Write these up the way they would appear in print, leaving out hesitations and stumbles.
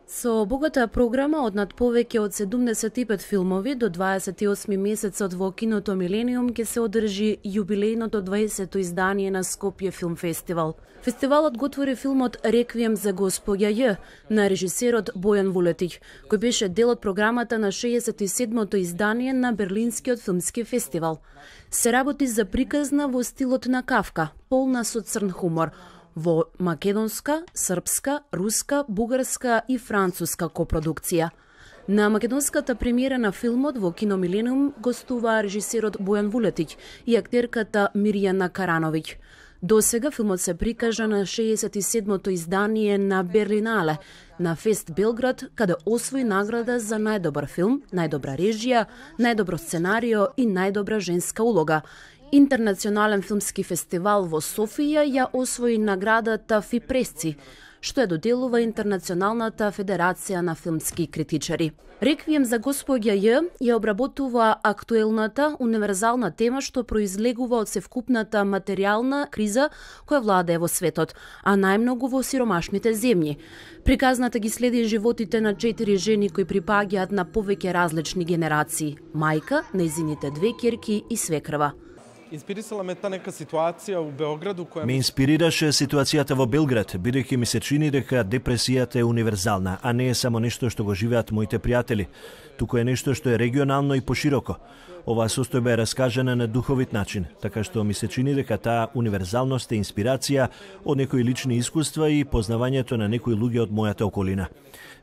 Со богата програма од над повеќе од 75 филмови до 28 месецот во киното Милениум ќе се одржи јубилејното 20-то издание на Скопје Филм Фестивал. Фестивалот го отвори филмот Реквием за Госпоѓа Ј на режисерот Бојан Вулетиќ, кој беше дел од програмата на 67-то издание на Берлинскиот филмски фестивал. Се работи за приказна во стилот на Кавка, полна со црн хумор, во македонска, српска, руска, бугарска и француска копродукција. На македонската премиера на филмот во кино Милениум гостуваа режисерот Бојан Вулетиќ и актерката Мирјана Карановиќ. До сега филмот се прикажа на 67-то издание на Берлинале, на Фест Белград, каде освои награда за најдобар филм, најдобра режија, најдобро сценарио и најдобра женска улога. Интернационален филмски фестивал во Софија ја освои наградата Фипресци, што ја доделува Интернационалната федерација на филмски критичари. Реквием за Госпоѓа Ј ја обработува актуелната, универзална тема што произлегува од севкупната материјална криза која владее во светот, а најмногу во сиромашните земји. Приказната ги следи животите на 4 жени кои припаѓаат на повеќе различни генерации: мајка, нејзините 2 ќерки и свекрва. Инспирисала ме та нека ситуација у Београду која ме инспирираше ситуацијата во Белград, бидејќи ми се чини дека депресијата е универзална, а не е само нешто што го живеат моите пријатели, туку е нешто што е регионално и пошироко. Оваа состојба е раскажана на духовит начин, така што ми се чини дека таа универзалност е инспирација од некои лични искуства и познавањето на некои луѓе од мојата околина.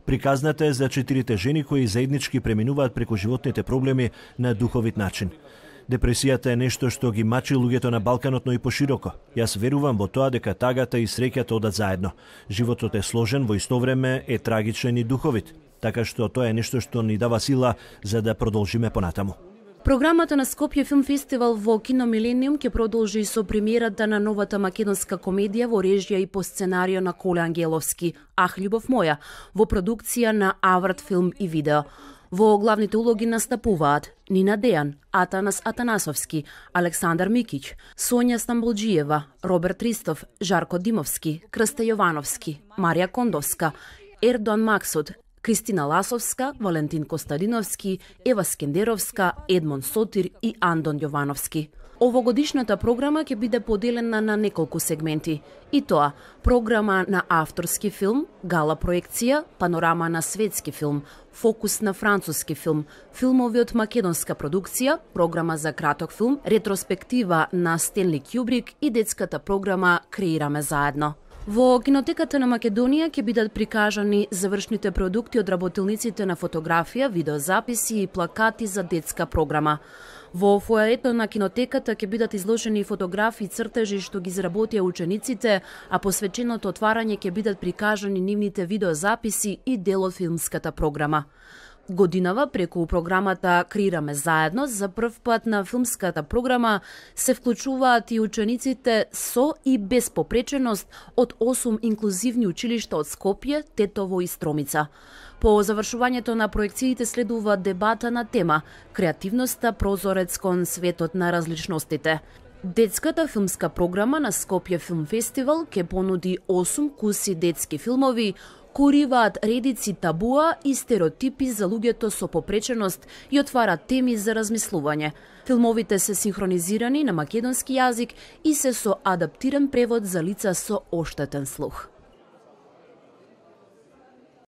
Приказната е за 4 жени кои заеднички преминуваат преку животните проблеми на духовит начин. Депресијата е нешто што ги мачи луѓето на Балканот, но и пошироко. Јас верувам во тоа дека тагата и среќата одат заедно. Животот е сложен, во исто време е трагичен и духовит, така што тоа е нешто што ни дава сила за да продолжиме понатаму. Програмата на Скопје Филм Фестивал во кино Милениум ќе продолжи со премиерата на новата македонска комедија во режија и по сценарио на Коле Ангеловски, Ах, љубов моја, во продукција на Аврат Филм и Видео. Во главните улоги настапуваат Нина Дејан, Атанас Атанасовски, Александар Микиќ, Сонја Стамболџиева, Роберт Ристов, Жарко Димовски, Крста Јовановски, Марија Кондовска, Ердоан Максуд, Кристина Ласовска, Валентин Костадиновски, Ева Скендеровска, Едмон Сотир и Андон Јовановски. Овогодишната програма ќе биде поделена на неколку сегменти, и тоа програма на авторски филм, гала проекција, панорама на светски филм, фокус на француски филм, филмови од македонска продукција, програма за краток филм, ретроспектива на Стенли Кјубрик и детската програма Креираме заедно. Во кинотеката на Македонија ќе бидат прикажани завршните продукти од работилниците на фотографија, видеозаписи и плакати за детска програма. Во фоаето на кинотеката ќе бидат изложени фотографии и цртежи што ги изработија учениците, а посвеченото отварање ќе бидат прикажани нивните видеозаписи и дел од филмската програма. Годинава преку програмата Креираме заедно за прв пат на филмската програма се вклучуваат и учениците со и без попреченост од 8 инклузивни училишта од Скопје, Тетово и Стромица. По завршувањето на проекциите следува дебата на тема Креативноста прозорец кон светот на различностите. Детската филмска програма на Скопје Филм Фестивал ќе понуди 8 куси детски филмови кои уриваат редици табуа и стереотипи за луѓето со попреченост и отвараат теми за размислување. Филмовите се синхронизирани на македонски јазик и се со адаптиран превод за лица со оштетен слух.